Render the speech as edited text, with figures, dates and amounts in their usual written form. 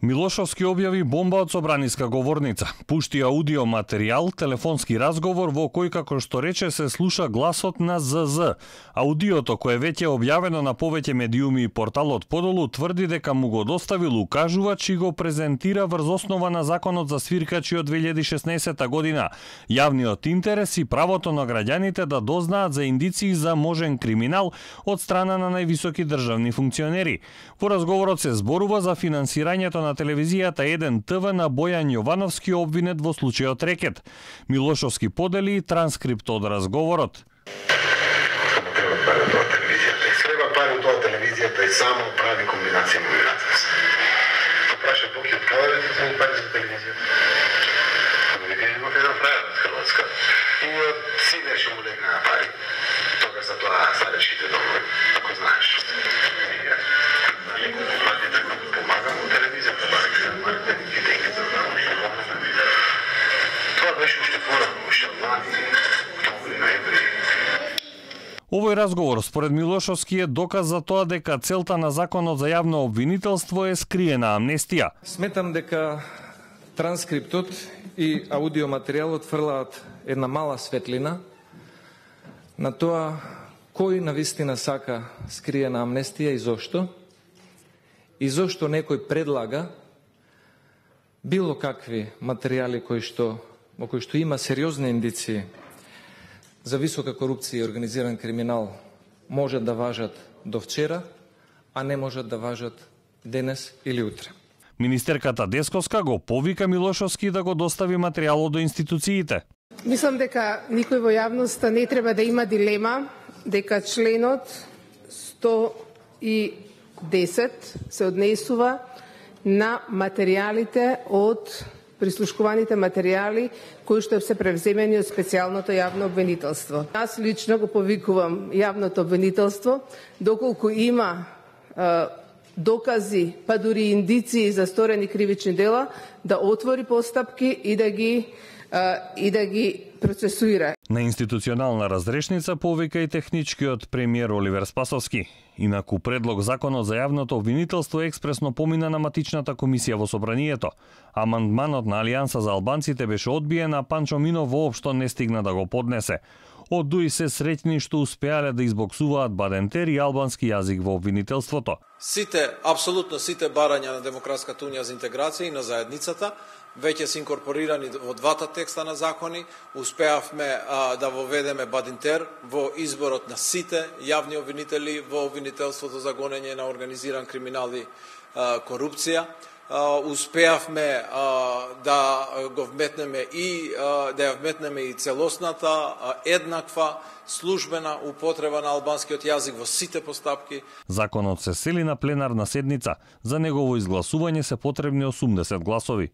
Милошовски објави бомба од собраниска говорница. Пушти аудио материјал, телефонски разговор во кој, како што рече, се слуша гласот на ЗЗ. Аудиото, кое веќе е објавено на повеќе медиуми и порталот подолу, тврди дека му го доставил укажувач и го презентира врз основа на законот за свиркачи од 2016 година. Јавниот интерес и правото на граѓаните да дознаат за индиции за можен криминал од страна на највисоки државни функционери. Во разговорот се зборува за финансирањето на телевизијата 1 ТВ на Бојан Јовановски, обвинет во случајот рекет. Милошовски подели транскрипт од разговорот. Треба пари од тоа телевизијата и само прави комбинација на миграција. Праша Боки од каде да ти пари за телевизијата? Вика има една правила од Хрватска. И од синеше му легна на пари. Тогаш за тоа старечките домови, ако знаеш. Овој разговор според Милошовски е доказ за тоа дека целта на законот за јавно обвинителство е скриена амнестија. Сметам дека транскриптот и аудиоматеријалот фрлаат една мала светлина на тоа кој навистина сака скриена амнестија и зошто некој предлага било какви материјали во кои што има сериозни индиции за висока корупција и организиран криминал можат да важат до вчера, а не можат да важат денес или утре. Министерката Десковска го повика Милошовски да го достави материјалот до институциите. Мислам дека никој во јавноста не треба да има дилема дека членот 110 се однесува на материјалите од прислушкуваните материјали кои што се превземени од специјалното јавно обвинителство. Јас лично го повикувам јавното обвинителство, доколку има докази, па дури индиции за сторени кривични дела, да отвори постапки и да ги процесуира. На институционална разрешница повика и техничкиот премиер Оливер Спасовски. Инаку предлог законот за јавното обвинителство експресно помина на матичната комисија во собранието. Амандманот на Алијанса за албанците беше одбиен, а Панчо Минов воопшто не стигна да го поднесе. Од дуи се среќни што успеале да избоксуваат бадентер и албански јазик во обвинителството. Апсолутно сите барања на Демократската унија за интеграција и на заедницата веќе се инкорпорирани во двата текста на закони. Успеавме да воведеме бадинтер во изборот на сите јавни обвинители во обвинителството за гонење на организиран криминал и корупција. Успеавме да го вметнеме и да ја вметнеме и целосната еднаква службена употреба на албанскиот јазик во сите постапки. Законот се сели на пленарна седница. За негово изгласување се потребни 80 гласови.